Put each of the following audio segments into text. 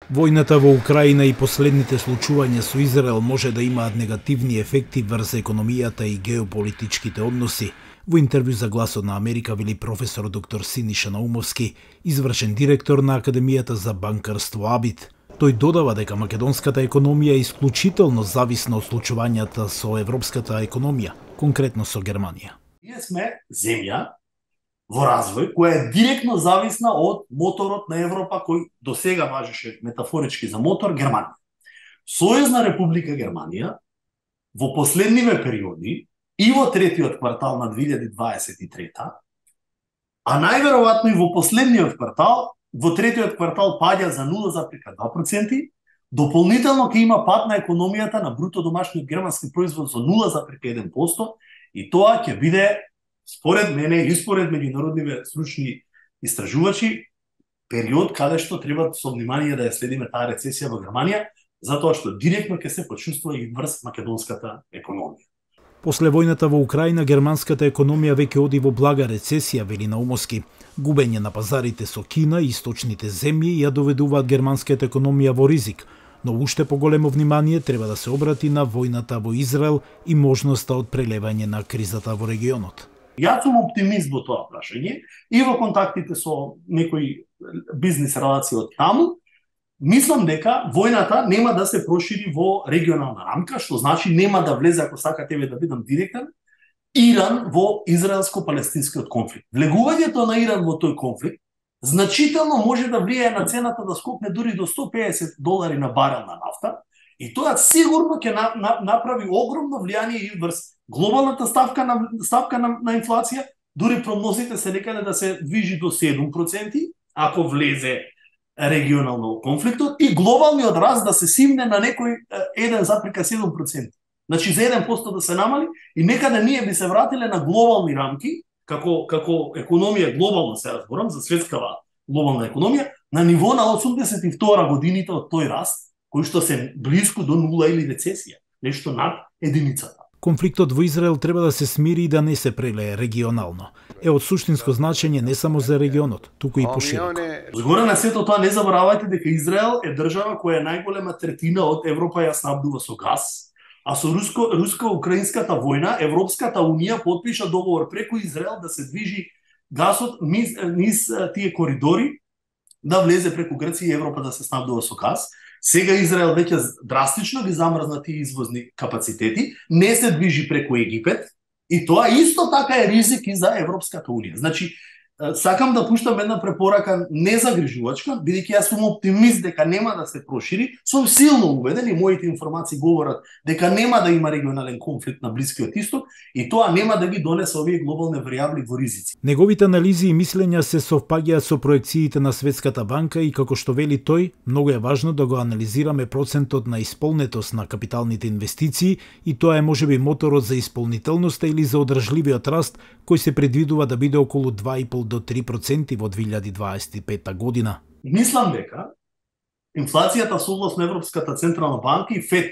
Војната во Украина и последните случувања со Израел може да имаат негативни ефекти врз економијата и геополитичките односи. Во интервју за Гласот на Америка вели професор доктор Синиша Наумовски, извршен директор на Академијата за банкарство АБИТ. Тој додава дека македонската економија е исклучително зависна од случувањата со европската економија, конкретно со Германија. Ние сме земја во развој, која е директно зависна од моторот на Европа, кој до сега важеше метафорички за мотор, Германија. Сојузна република Германија во последниве периоди и во третиот квартал на 2023, а најверојатно и во последниот квартал, во третиот квартал паѓа за 0,2%, дополнително ќе има пад на економијата на бруто домашниот германски производ за 0,1% и тоа ќе биде, според мене и според меѓународниве стручни истражувачи, период каде што треба со внимание да ја следиме таа рецесија во Германија, затоа што директно ќе се почувствува и врз македонската економија. После војната во Украина, германската економија веќе оди во блага рецесија, вели Наумовски. Губење на пазарите со Кина и источните земји ја доведуваат германската економија во ризик, но уште поголемо внимание треба да се обрати на војната во Израел и можноста од прелевање на кризата во регионот. Јас сум оптимист во тоа прашање и во контактите со некои бизнис релации од таму. Мислам дека војната нема да се прошири во регионална рамка, што значи нема да влезе, ако сакате да бидам директен, Иран во израелско-палестинскиот конфликт. Влегувањето на Иран во тој конфликт значително може да влијае на цената да скокне дури до $150 на барел на нафта, и тоа сигурно ќе направи огромно влијание и врз глобалната ставка на инфлација, дури прогнозите се некаде да се движи до 7%, ако влезе регионално конфликтот, и глобалниот раст да се симне на некој 1,7%. Значи за 1% да се намали и некаде ние би се вратиле на глобални рамки, како економија глобална, се разборам, за светскава глобална економија, на ниво на 82 годините од тој раст, кои што се близко до нула или рецесија, нешто над единицата. Конфликтот во Израел треба да се смири и да не се прелее регионално. Е од суштинско значење не само за регионот, туку и пошироко. Згоре на сето тоа не заборавајте дека Израел е држава која е најголема третина од Европа ја снабдува со газ, а со руско-украинската војна Европската унија потпиша договор преку Израел да се движи газот низ тие коридори, да влезе преку Грција и Европа да се снабдува со газ. Сега Израел веќе драстично ги замрзна тие извозни капацитети, не се движи преку Египет, и тоа исто така е ризик и за Европската унија. Значи, сакам да пуштам една препорака незагрижувачка, бидејќи јас сум оптимист дека нема да се прошири, сум силно убеден и моите информации говорат дека нема да има регионален конфликт на Блискиот Исток и тоа нема да ги донесе овие глобални варијабли во ризици. Неговите анализи и мислења се совпаѓаат со проекциите на Светската банка и како што вели тој, многу е важно да го анализираме процентот на исполнетост на капиталните инвестиции и тоа е можеби моторот за исполнителноста или за одржливиот раст кој се предвидува да биде околу 2,5 до 3% во 2025 година. Мислам дека инфлацијата согласно Европската централна банка и ФЕД,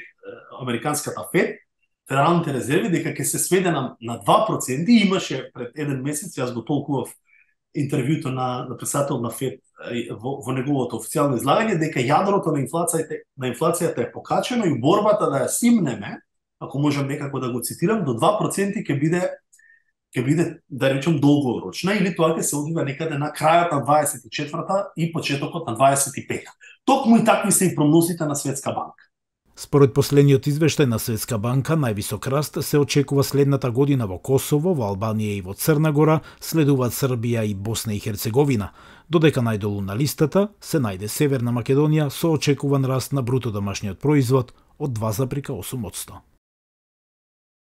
американската ФЕД, федералните резерви, дека ќе се сведе на 2%. Имаше пред еден месец, јас го толкував интервјуто на писател на ФЕД во неговото официјално излагање, дека јадрото на инфлацијата е покачено и борбата да ја симнеме, ако можам некако да го цитирам, до 2% ќе биде, да речем, долгорочна, или тоа ќе се одвива некаде на крајот на 24-та и почетокот на 25-та. Токму и такви се и прогнозите на Светска банка. Според последниот извештај на Светска банка, највисок раст се очекува следната година во Косово, во Албанија и во Црна Гора, следуваат Србија и Босна и Херцеговина, додека најдолу на листата се најде Северна Македонија со очекуван раст на бруто домашниот производ од 2,8%.